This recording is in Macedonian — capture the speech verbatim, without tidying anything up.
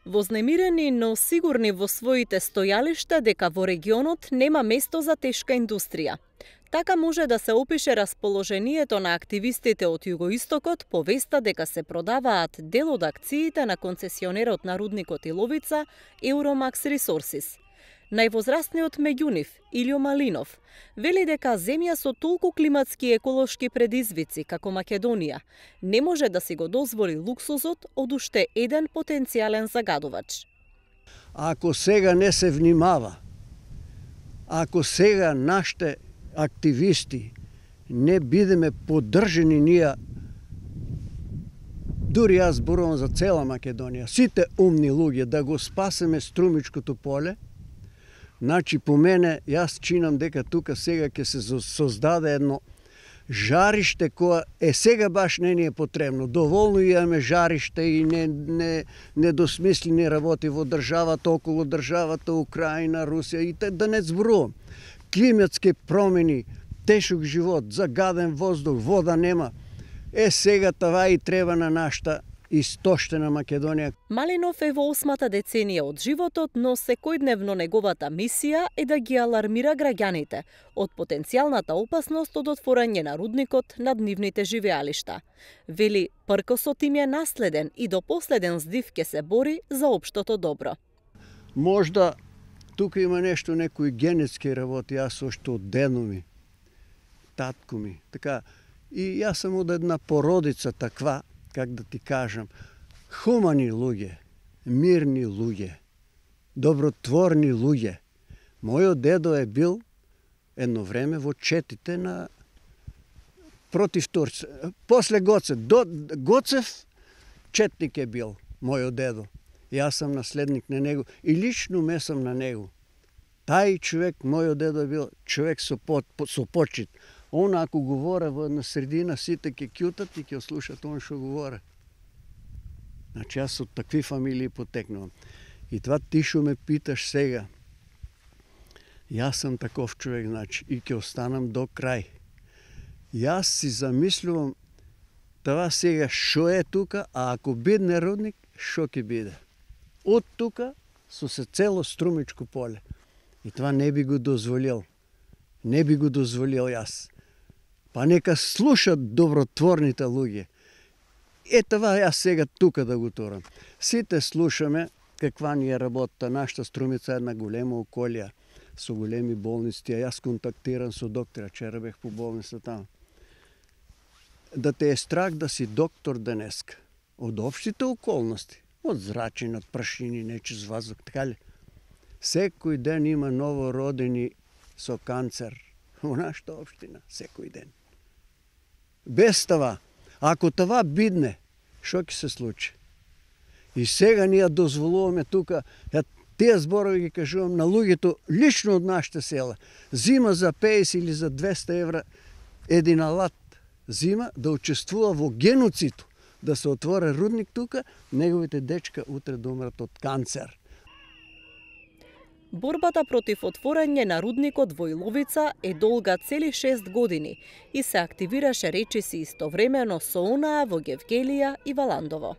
Вознемирени, но сигурни во своите стојалишта дека во регионот нема место за тешка индустрија. Така може да се опише расположението на активистите од југоистокот по веста дека се продаваат дел од акциите на концесионерот на рудникот Иловица Euromax Resources. Највозрастниот меѓу нив, Илјо Малинов, вели дека земја со толку климатски и еколошки предизвици како Македонија не може да си го дозволи луксузот од уште еден потенцијален загадувач. Ако сега не се внимава, ако сега нашите активисти не бидеме поддржани ние, дури јас зборувам за цела Македонија, сите умни луѓе да го спасеме Струмичкото поле, значи по мене јас чинам дека тука сега ќе се создаде едно жариште кое е сега баш не ни е потребно. Доволно имаме жариште и не, не, недосмислени работи во државата, околу државата, Украина, Русија и те, да не зборувам. Климатски промени, тешок живот, загаден воздух, вода нема. Е сега това и треба на нашата истоштена Македонија. Малинов е во осмата деценија од животот, но секојдневно неговата мисија е да ги алармира граѓаните од потенцијалната опасност од отворање на рудникот над нивните живеалишта. Вели, пркосот им е наследен и до последен здив ќе се бори за општото добро. Можда тука има нешто, некои генетски работи, јас уште од дедо ми, татко ми, така, и јас сум од една породица таква, как да ти кажам, хумани луѓе, мирни луѓе, добротворни луѓе. Мојот дедо е бил едно време во четите на против Турци. После Гоцев, до Гоцев четник е бил мојот дедо. Јас сам наследник на него и лично ме сам на него. Тај човек, мојот дедо е бил човек со, по, со почит. Он ако говори во една средина, сите ќе кјутат и ќе слушат он што говори. Значи јас од такви фамилии потекнувам. И това ти што ме питаш сега, јас сам таков човек, значи, и ќе останам до крај. Јас си замислувам това сега што е тука, а ако бидне рудник, што ќе биде. Од тука со се цело Струмичко поле. И това не би го дозволил. Не би го дозволил јас. Па нека слушат добротворните луѓе. Е това јас сега тука да го турам. Сите слушаме каква ни е работа. Нашата Струмица е една голема околија со големи болници. Јас контактирам со доктора, вчера бех по болница таму. Да те е страх да си доктор денеска. Од општите околности. Од зрачени, од прашини, нечист ваздух, така ли? Секој ден има новородени со канцер во нашата општина, секој ден. Без това, ако това бидне, што ќе се случи? И сега ние дозволуваме тука, ја тие зборови ги кажувам на луѓето лично од нашите села. Зима за петдесет или за двеста евра един алат зима да учествува во геноцид, да се отвори рудник тука, неговите дечка утре да умрат од канцер. Борбата против отворање на рудникот во Иловица е долга цели шест години и се активираше речиси истовремено со онаа во Гевгелија и Валандово.